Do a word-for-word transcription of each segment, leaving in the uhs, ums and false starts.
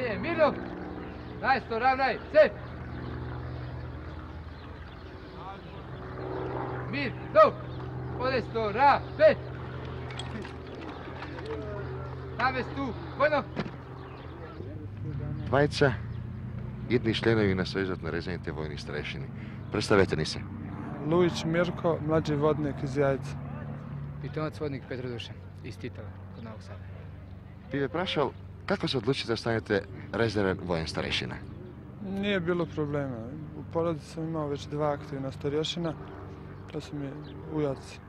Stanje, mirno! Najsto, ravnaj, se! Mir, do! Podesto, ra, pe! Navestu, vojno! Двајца идни членови на Сојузот на резервните војни старешини. Представете ни се. Луиć Мирко, младши водник из Јајца. Питомаc водник Петро Душан, из Титова, код Новог Сада. Би ве прашал, како се одлучите да станете резервен воен старешина? Nije bilo problema. U porodici sam imao već dva aktivna starješina, to su mi ujaci.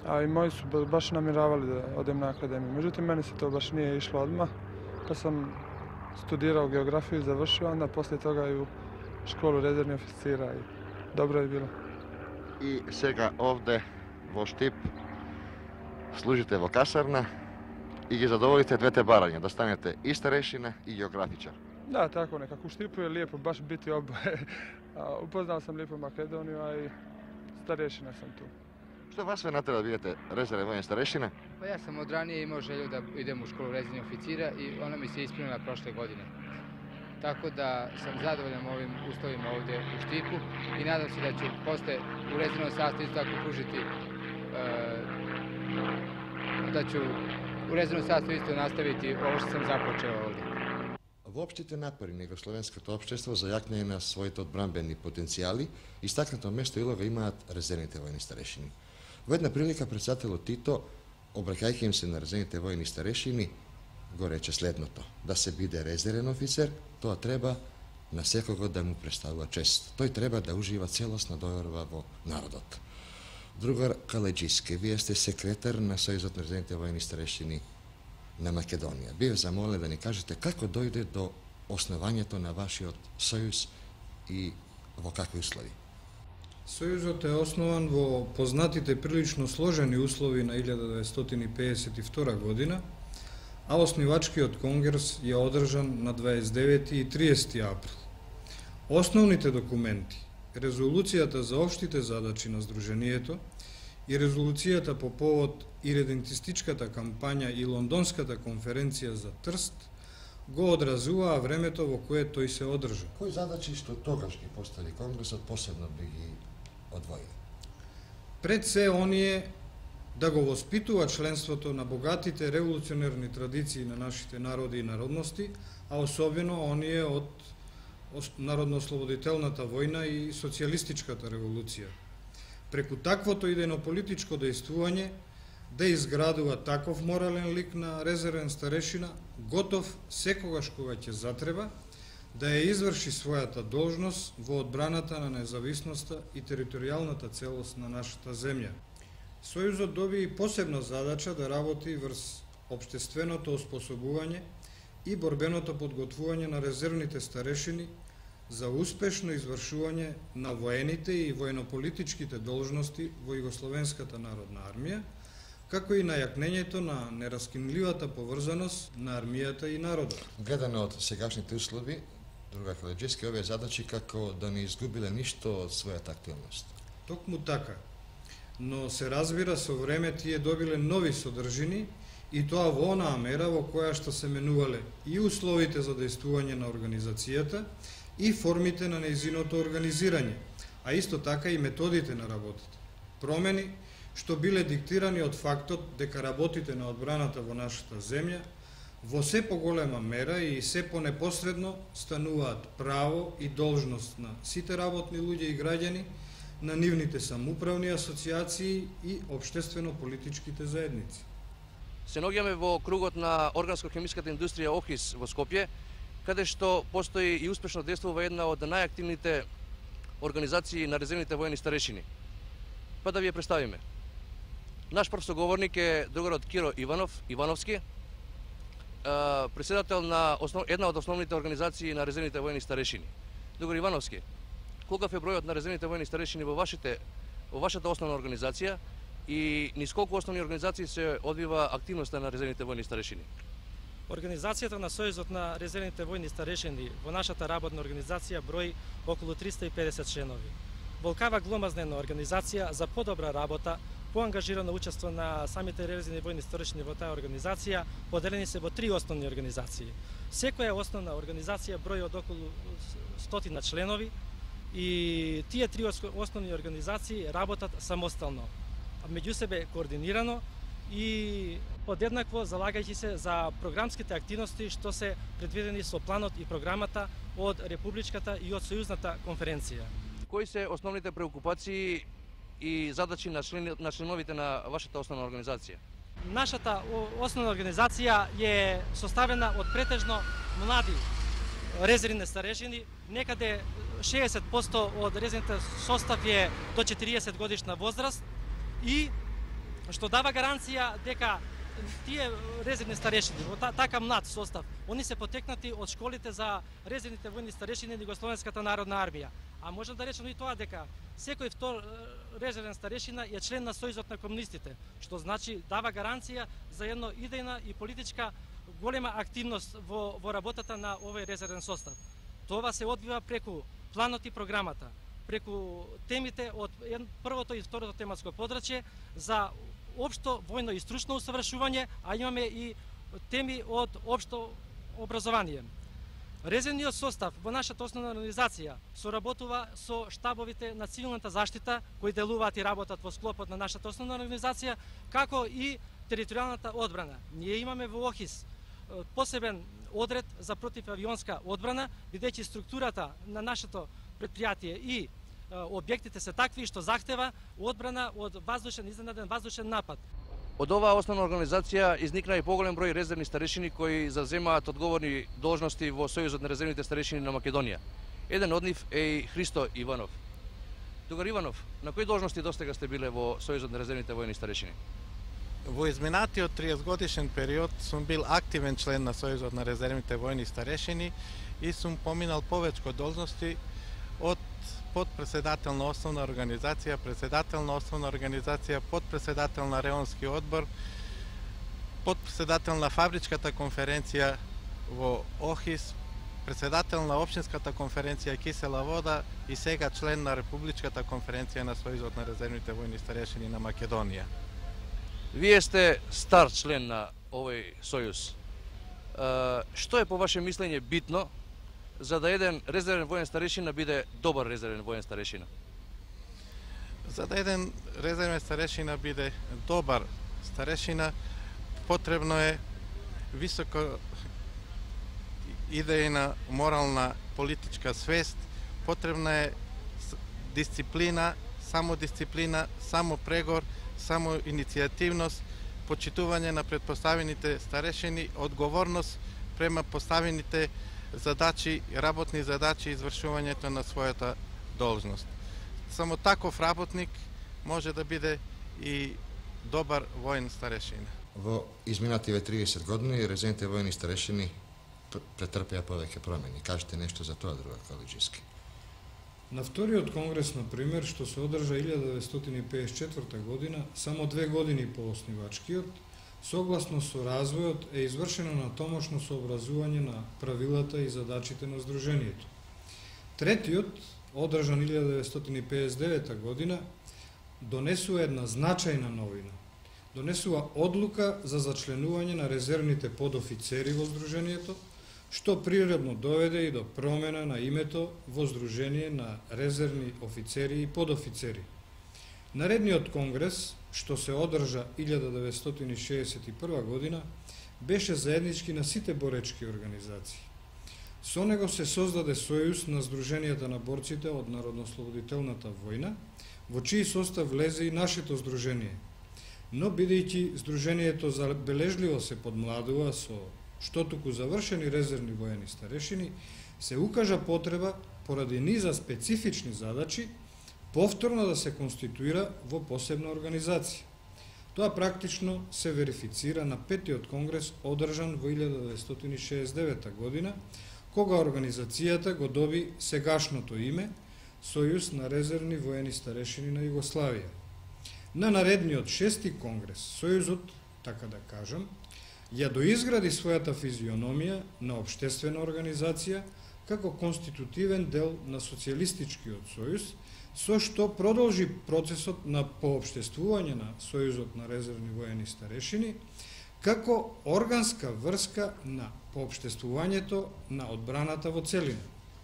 A i moji su baš namiravali da odem na akademiju. Međutim, meni se to baš nije išlo odmah, pa sam studirao geografiju i završio, onda poslije toga i u školu rezervnih oficira i dobro je bilo. И сега овде во Штип служите во касарна и ги задоволите двете барања, да станете и старешина и географичар. Da, tako nekako. U Štipu je lijepo baš biti oboje. Upoznao sam lijepo Makedoniju, a i starešina sam tu. Што вас ве натера да бидете резервен воен старешина? Pa ja sam od ranije imao želju da idem u školu rezervnih oficira i ona mi se ispunila prošle godine. Tako da sam zadovoljan ovim uslovima ovdje u Štipu i nadam se da ću posle u rezervnom sastavu isto tako pružiti, da ću u rezervnom sastavu isto nastaviti ovo što sam započeo ovdje. Воопштите напори на југословенското општество за јакнење на своите одбранбени потенцијали, истакнато место и улога имаат резервните војни старешини. Во една прилика председателот Тито, обраќајќи им се на резервните војни старешини, го рече следното: да се биде резервен офицер, тоа треба на секого да му представува чест. Тој треба да ужива целосна доверба во народот. Другар Калеџиске, вие сте секретар на Сојузот на резервните војни старешини на Македонија. Бив замолен да ни кажете како дојде до основањето на вашиот сојуз и во какви услови. Сојузот е основан во познатите прилично сложени услови на илјада деветстотини пеесет и втора година, а основачкиот конгрес е одржан на дваесет и девети и триесети април. Основните документи, резолуцијата за општите задачи на Сдруженијето и резолуцијата по повод иридентистичката кампања и Лондонската конференција за Трст го одразуваа времето во кое тој се одржа. Кои задачи што тогаш ги постави Конгресот посебно би ги одвоили? Пред се оние да го воспитува членството на богатите револуционерни традиции на нашите народи и народности, а особено оние од Народно-ослободителната војна и социјалистичката револуција. Преку таквото идејно-политичко дејствување да изградува таков морален лик на резервен старешина, готов секогаш кога ќе затреба, да ја изврши својата должност во одбраната на независноста и територијалната целост на нашата земја. Сојузот доби и посебна задача да работи врз општественото оспособување и борбеното подготвување на резервните старешини за успешно извршување на воените и војнополитичките должности во Југословенската народна армија, како и на јакнењето на нераскинливата поврзаност на армијата и народот. Гледано од сегашните услови, друга Калеџиске, овие задачи како да не изгубиле ништо од својата активност. Токму така, но се разбира со време тие добиле нови содржини и тоа во онаа мера во која што се менувале и условите за дејствување на организацијата и формите на нејзиното организирање, а исто така и методите на работата. Промени што биле диктирани од фактот дека работите на одбраната во нашата земја во се поголема мера и се понепосредно стануваат право и должност на сите работни луѓе и граѓани, на нивните самоуправни асоциации и општествено-политичките заедници. Се наоѓаме во кругот на органско-хемиската индустрија ОХИС во Скопје, каде што постои и успешно действува една од најактивните организации на резервните војни старешини. Па да ви ја представиме. Наш прв соговорник е другарот Киро Иванов, Ивановски, председател на основ... една од основните организации на резервните војни старешини. Другар Ивановски, колкав е бројот на резервните војни старешини во вашите во вашата основна организација и низ колку основни организации се одвива активноста на резервните војни старешини? Организацијата на Сојузот на резервните војни старешини во нашата работна организација брои околу триста и педесет членови. Волкава гломазнена организација за подобра работа поангажирано учество на самите резервни војни старешини во таа организација, поделени се во три основни организации. Секоја основна организација брои од околу стотина членови и тие три основни организации работат самостално, меѓу себе координирано и подеднакво залагајќи се за програмските активности што се предвидени со планот и програмата од Републичката и од Сојузната конференција. Кои се основните преокупации и задачи на, член, на членовите на вашата основна организација? Нашата основна организација е составена од претежно млади резервни старешини, некаде шеесет проценти од резервните состав е до четириесет годишна возраст и што дава гаранција дека тие резервни старешини во така млад состав, они се потекнати од школите за резервните војни старешини на Југословенската народна армија. А може да речеме и тоа дека секој втор резервен старешина е член на Сојузот на комунистите, што значи дава гаранција за едно идејна и политичка голема активност во, во работата на овој резервен состав. Това се одвива преку планот и програмата, преку темите од првото и второто тематско подрачје за општо војно и стручно усавршување, а имаме и теми од општо образование. Резервниот состав во нашата основна организација соработува со штабовите на цивилната заштита кои делуваат и работат во склопот на нашата основна организација, како и територијалната одбрана. Ние имаме во ОХИС посебен одред за противавионска одбрана, бидејќи структурата на нашето предпријатие и објектите се такви што захтева одбрана од воздушен изненаден воздушен напад. Од оваа основна организација изникна и поголем број резервни старешини кои заземаат одговорни должности во Сојузот на резервните старешини на Македонија. Еден од нив е и Христо Иванов. Тогар Иванов, на кои должности достега сте биле во Сојузот на резервните војни старешини? Во изминатиот триесет годишен период сум бил активен член на Сојузот на резервните војни старешини и сум поминал повечко должности од подпредседател на основна организација, председател на основна организација, подпредседател на реонски одбор, подпредседател на фабричката конференција во ОХИС, председател на општинската конференција Кисела вода и сега член на Републичката конференција на Сојузот на резервните војни старешини на Македонија. Вие сте стар член на овој сојуз. Што е по ваше мислење битно за да еден резервен воен старешина биде добар резервен воен старешина? За да еден резервен старешина биде добар старешина, потребно е високо идејна, морална, политичка свест, потребна е дисциплина, самодисциплина, самопрегор, самоиницијативност, почитување на претпоставените старешини, одговорност према поставените задачи, работни задачи и извршувањето на својата должност. Само таков работник може да биде и добар воен старешина. Во изминативе триесет години резервните војни старешини претрпеа повеќе промени. Кажете нешто за тоа, друга Калиџиски. На вториот конгрес, на пример, што се одржа илјада деветстотини и пеесет и четврта година, само две години по основачкиот, согласно со развојот е извршено натомошно сообразување на правилата и задачите на Сдруженијето. Третиот, одржан илјада деветстотини и пеесет и девета година, донесува една значајна новина. Донесува одлука за зачленување на резервните подофицери во Сдруженијето, што природно доведе и до промена на името во Сдружение на резервни офицери и подофицери. Наредниот конгрес, што се одржа илјада деветстотини шеесет и прва година, беше заеднички на сите боречки организации. Со него се создаде Сојуз на Сдруженијата на борците од Народно-ослободителната војна, во чиј состав влезе и нашето Сдружение. Но, бидејќи Сдруженијето забележливо се подмладува со што туку завршени резервни воени старешини, се укажа потреба, поради низа специфични задачи, повторно да се конституира во посебна организација. Тоа практично се верифицира на петиот конгрес одржан во илјада деветстотини шеесет и девета година, кога организацијата го доби сегашното име Сојуз на резервни воени старешини на Југославија. На наредниот шести конгрес Сојузот, така да кажам, ја доизгради својата физиономија на општествена организација, како конститутивен дел на Социјалистичкиот сојуз, со што продолжи процесот на поопштествување на Сојузот на резервни воени старешини, како органска врска на поопштествувањето на одбраната во целина.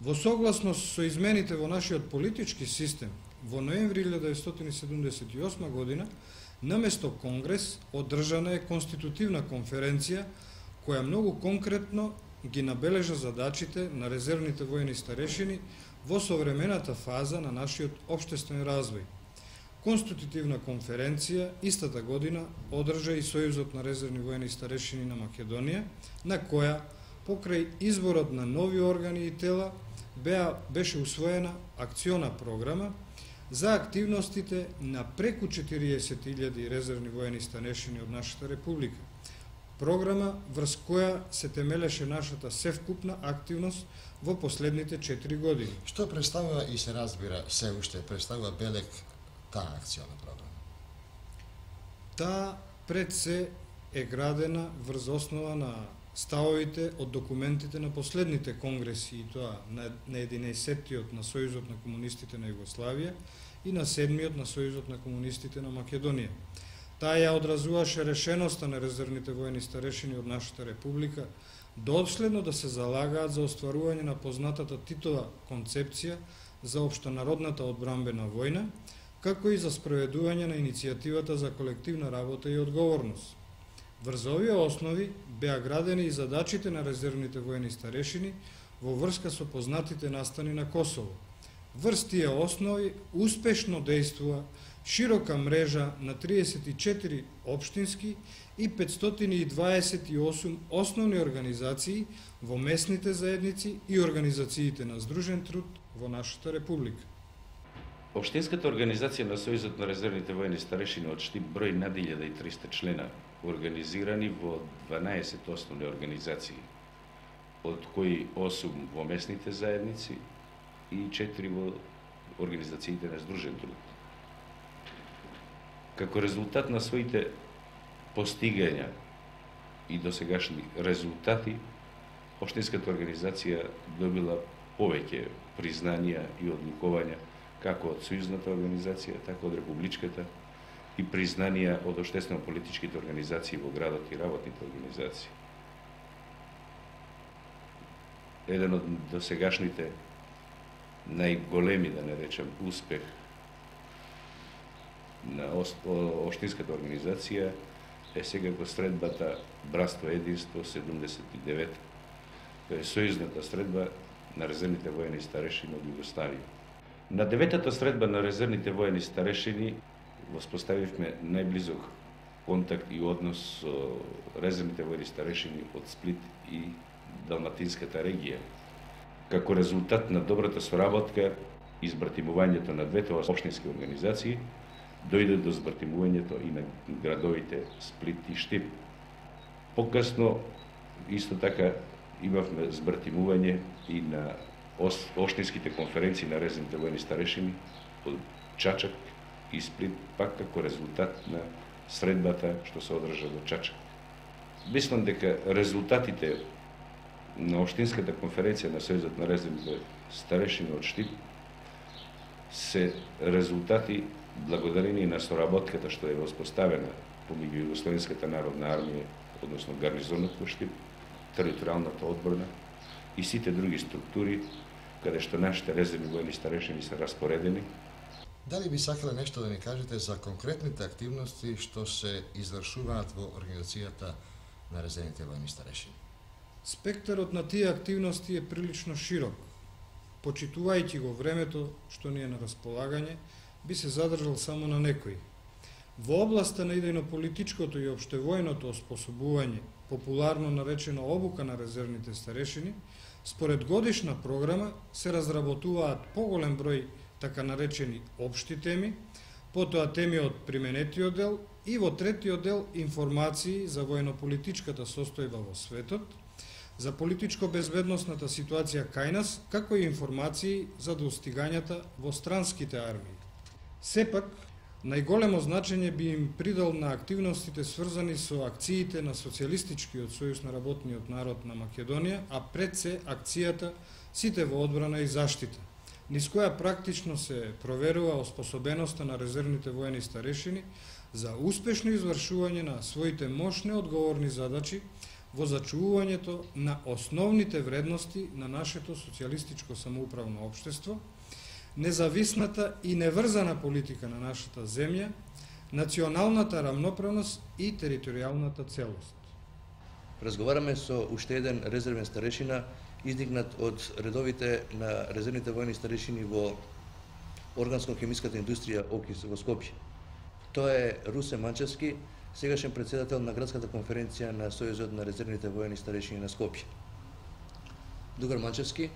Во согласност со измените во нашиот политички систем, во ноември илјада деветстотини седумдесет и осма година, наместо Конгрес, одржана е конститутивна конференција, која многу конкретно ги набележа задачите на резервните воени старешини во современата фаза на нашиот општествен развој. Конститутивна конференција истата година одржа и Сојузот на резервни воени старешини на Македонија, на која, покрај изборот на нови органи и тела, беа, беше усвоена акциона програма за активностите на преку четириесет илјади резервни воени старешини од нашата република. Програма врз која се темелеше нашата севкупна активност во последните четири години. Што представува и се разбира се уште представува белег таа акциона програма? Таа пред се е градена врз основа на ставовите од документите на последните конгреси, и тоа на единаесеттиот на Сојузот на комунистите на Југославија и на седмиот на Сојузот на комунистите на Македонија. Таа ја одразуваше решеноста на резервните воени старешини од нашата република доследно да се залагаат за остварување на познатата Титова концепција за општонародната одбранбена војна, како и за спроведување на иницијативата за колективна работа и одговорност. Врз овие основи беа градени и задачите на резервните воени старешини во врска со познатите настани на Косово. Врз тие основи успешно действува широка мрежа на триесет и четири општински и петстотини и дваесет и осум основни организации во местните заедници и организациите на здружен труд во нашата република. Општинската организација на Сојузот на резервните воени старешини од Штип брои над илјада и триста члена, организирани во дванаесет основни организации, од кои осум во местните заедници и четири во организациите на здружен труд. Како резултат на своите постигања и досегашни резултати, општинската организација добила повеќе признанија и одликувања како од сојузната организација, така од републичката, и признанија од општествено-политичките организации во градот и работните организации. Еден од досегашните најголеми, да не речем, успех на општинската организација е секако средбата Братство единство седумдесет и девет, тоа е сојузната средба на резервните воени старешини од Југославија. На деветата средба на резервните воени старешини воспоставивме најблизок контакт и однос со резервните воени старешини од Сплит и Далматинската регија. Како резултат на добрата соработка и збратимувањето на двете општински организации, дојде до збратимувањето и на градовите Сплит и Штип. Покасно, исто така, имавме збратимување и на општинските конференции на резервните воени старешини од Чачак и Сплит, пак како резултат на средбата што се одржа во Чачак. Мислам дека резултатите на општинската конференција на Сојузот на резервните старешини од Штип се резултати благодарение на соработката што е воспоставена помеѓу Југословенската народна армија, односно гарнизонот во Штип, територијалната одбрана и сите други структури каде што нашите резервни воени старешини се распоредени. Дали би сакале нешто да ни кажете за конкретните активности што се извршуваат во организацијата на резервните воени старешини? Спектарот на тие активности е прилично широк. Почитувајќи го времето што ни е на располагање, би се задржал само на некои. Во областа на идејно-политичкото и општевојното оспособување, популарно наречено обука на резервните старешини, според годишна програма се разработуваат поголем број така наречени општи теми, потоа теми од применетиот дел и во третиот дел информации за војно-политичката состојба во светот, за политичко-безбедносната ситуација кај нас, како и информации за достигањата во странските армии. Сепак, Најголемо значење би им придал на активностите сврзани со акциите на Социјалистичкиот сојуз на работниот народ на Македонија, а пред се акцијата Сите во одбрана и заштита, низ која практично се проверува оспособеноста на резервните воени старешини за успешно извршување на своите мощни одговорни задачи во зачувувањето на основните вредности на нашето социјалистичко самоуправно општество, независната и неврзана политика на нашата земја, националната рамноправност и територијалната целост. Разговараме со уште еден резервен старешина, издигнат од редовите на резервните воени старешини во органско-хемиската индустрија ОХИС во Скопје. Тоа е Русе Манчевски, сегашен председател на градската конференција на Сојузот на резервните воени старешини на Скопје. Дугар Манчевски,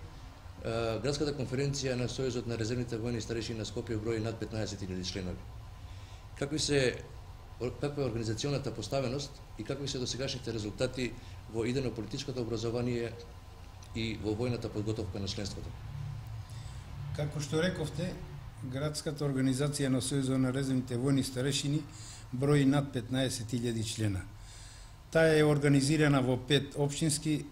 градската конференција на Сојузот на резервните воени старешини на Скопје брои над петнаесет илјади членови. Какви се каква е организационата поставеност и какви се досегашните резултати во идейно-политичкото образование и во војната подготовка на членството? Како што рековте, градската организација на Сојузот на резервните војни старешини брои над петнаесет илјади члена. Таа е организирана во пет општински е,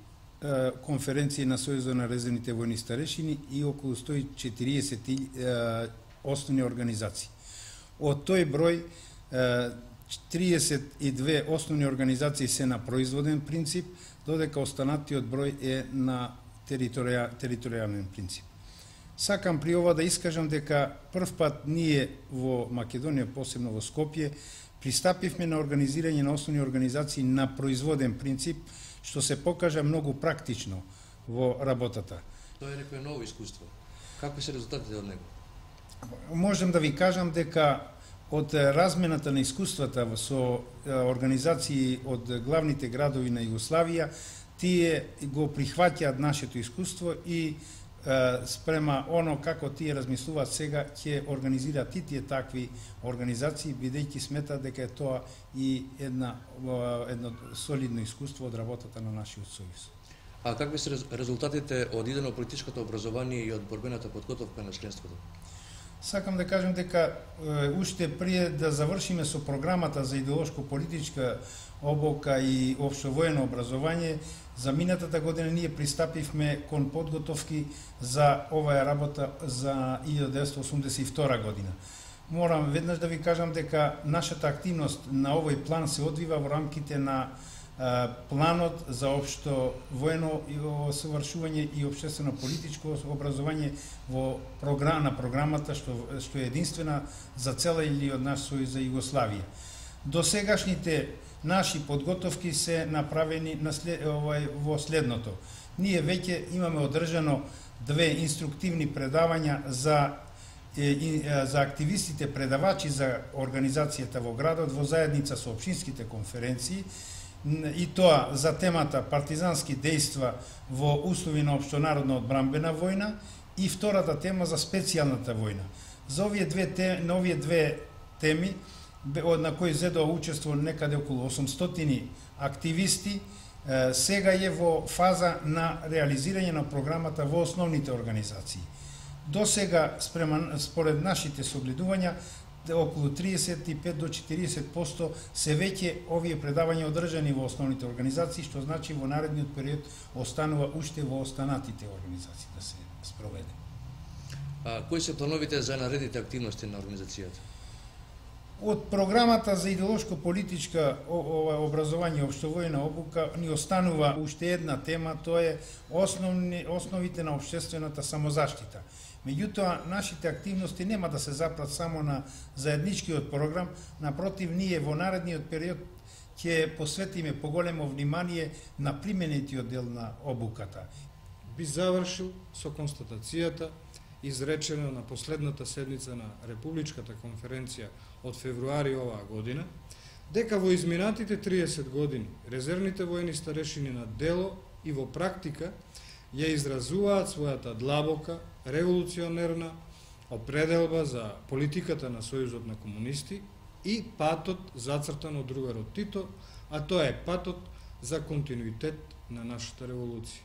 конференции на Сојузот на резервните војни старешини и околу сто и четириесет е, основни организации. Од тој број е, триесет и две основни организации се на производен принцип, додека останатиот број е на територијален принцип. Сакам при ова да искажам дека прв пат ние во Македонија, посебно во Скопје, пристапивме на организирање на основни организации на производен принцип, што се покажа многу практично во работата. Тоа е некое ново искуство. Какви се резултатите од него? Можем да ви кажам дека од размената на искуствата со организации од главните градови на Југославија, тие го прихваќаат нашето искуство и спрема оно како тие размислуваат сега, ќе организираат и тие такви организации, бидејќи сметаат дека е тоа и една, едно солидно искуство од работата на нашиот сојуз. А какви се резултатите од идейно-политичкото образование и од борбената подготовка на членството? Сакам да кажем дека е, уште прие да завршиме со програмата за идеолошко-политичка обука и општовоено образование, за минатата година ние пристапивме кон подготовки за оваа работа за илјада деветстотини осумдесет и втора година. Морам веднаш да ви кажам дека нашата активност на овој план се одвива во рамките на планот за општо воено совршување и општествено политичко образование во програма на програмата што што е единствена за цела или од наш сојуз за Југославија. Досегашните наши подготовки се направени на след, овај, во следното. Ние веќе имаме одржано две инструктивни предавања за за активистите предавачи за организацијата во градот во заедница со општинските конференции, и тоа за темата партизански дејства во услови на општонародна одбранбена војна и втората тема за специјалната војна. За овие две теми, на овие две теми на кои зедоа учество некаде околу осумстотини активисти, сега е во фаза на реализирање на програмата во основните организации. До сега, според нашите согледувања, околу триесет и пет до четириесет проценти се веќе овие предавања одржани во основните организации, што значи во наредниот период останува уште во останатите организации да се спроведе. А кои се плановите за наредните активности на организацијата? Од програмата за идеолошко-политичка образование и општовојна обука ни останува уште една тема, тоа е основни, основите на општествената самозаштита. Меѓутоа, нашите активности нема да се запрат само на заедничкиот програм, напротив, ние во наредниот период ќе посветиме поголемо внимание на применетиот дел на обуката. Би завршил со констатацијата изречена на последната седница на Републичката конференција од февруари оваа година, дека во изминатите триесет години резервните воени старешини на дело и во практика ја изразуваат својата длабока, револуционерна определба за политиката на Сојузот на комунисти и патот зацртан од другарот Тито, а тоа е патот за континуитет на нашата револуција.